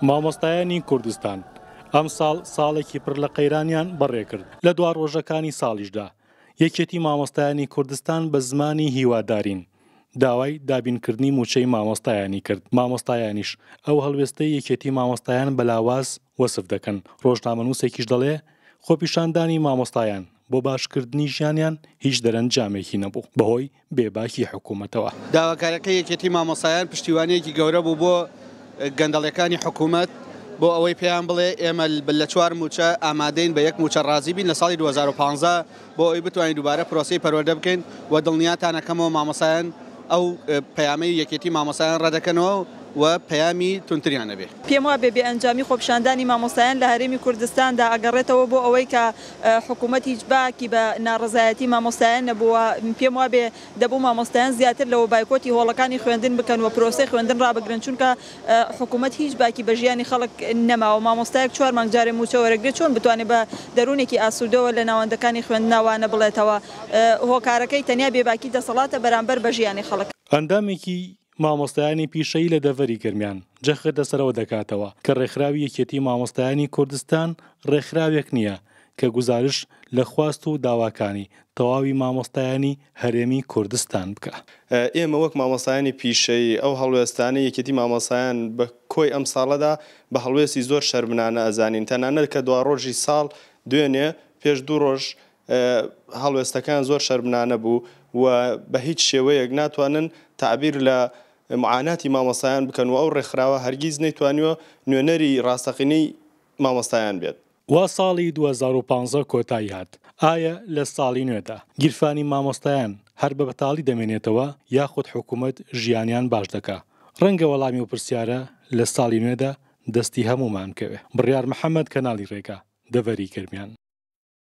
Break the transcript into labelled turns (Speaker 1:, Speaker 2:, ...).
Speaker 1: مامۆستایانی کوردستان ئەمساڵ ساڵێکی پڕ لە قەیرانیان بەڕێکرد، لە دوا ڕۆژەکانی ساڵیشدا یەکێتی مامۆستایانی کوردستان بە زمانی هیوادارین داوای دابینکردنی مووچەی مامۆستایانی کرد، مامۆستایانیش ئەو هەڵوێستەی یەکێتی مامۆستایان بە لاواز وەسف دەکەن، ڕۆژنامەنووسێکیش دەڵێ خۆپیشاندانی مامۆستایان بۆ باشکردنی ژیانیان هیچ دەرەنجامێکی نەبوو بەهۆی بێباکی حکومەتەوە.
Speaker 2: داواکاریەکەی یەکێتی مامۆستایان پشتیوانیەکی گەورە بوو بۆ گەندەڵیەکانی حکومەت بۆ ئەوەی پێیان بڵێ ئێمە لە چوار مووچە ئامادەین بە یەک مووچە ڕازی بین لە ساڵی 2015 بۆ ئەوەی بتوانین دووبارە پرۆسەی پەروەردە بکەین و دڵنیاتان ئەکەمەوە مامۆستایان ئەو پەیامەی یەکێتی مامۆستایان ڕەدەکەنەوە و پەیامی توندتریان ئەبێ.
Speaker 3: پێم وابێ بێ ئەنجامی خۆپیشاندانی مامۆستایان لە هەرێمی کوردستاندا ئەگەڕێتەوە بۆ ئەوەی کە حکوومەت هیچ باکی بە ناڕەزایەتی مامۆستایان نەبووە، پێم وابێ دەبوو مامۆستایان زیاتر لەوە بایکۆتی هۆڵەکانی خوێندن بکەن و پرۆسەی خوێندن ڕابگرن، چونکە حکوومەت هیچ باکی بە ژیانی خەڵک نەماوە، مامۆستایەک چوار مانگ جارێ مووچە وەرەگرێت چۆن بتوانێت بە دەروونێکی ئاسوودەوە لە ناوەندەکانی خوێندنا وانە بڵێتەوە، هۆکارەکەی تەنیا بێباکی دەسەڵاتە بەرامبەر بە ژیانی خەڵک.
Speaker 1: ئەندامێکی مامۆستایانی پیشەیی لە دەڤەری گەرمیان جەخت لەسەر ئەوە دەکاتەوە کە ڕێکخراوی یەکێتی مامۆستایانی کوردستان ڕێکخراوێک نییە کە گوزارش لە خواست و داواکانی تەواوی مامۆستایانی هەرێمی کوردستان بکا.
Speaker 4: ئێمە وەک مامۆستایانی پیشەیی ئەو هەڵوێستانەی یەکێتی مامۆستایان بە کۆی ئەم ساڵەدا بە هەڵوێستی زۆر شەرمنانە ئەزانین تەنانەت کە دواڕۆژی ساڵ دوێنێ پێش دوو ڕۆژ هەڵوێستەکەیان زۆر شەرمنانە بوو و بە هیچ شێوەیەک ناتوانن تەعبیر لە معاناتی مامۆستایان بکەن و ئەو ڕێکخراوە هەرگیز نەیتوانیوە نوێنەری ڕاستەقینەی مامۆستایان بێت.
Speaker 1: وا ساڵی 2015 کۆتایی هات، ئایا لە ساڵی نوێدا گیرفانی مامۆستایان هەر بە بەتاڵی دەمێنێتەوە یاخود حکومەت ژیانیان باش دەکا؟ ڕەنگە وەڵامی ئەو پرسیارە لە ساڵی نوێدا دەستی هەموومان بکەوێ. بڕیار محەمەد، کەناڵی ڕێگا، دەڤەری گەرمیان.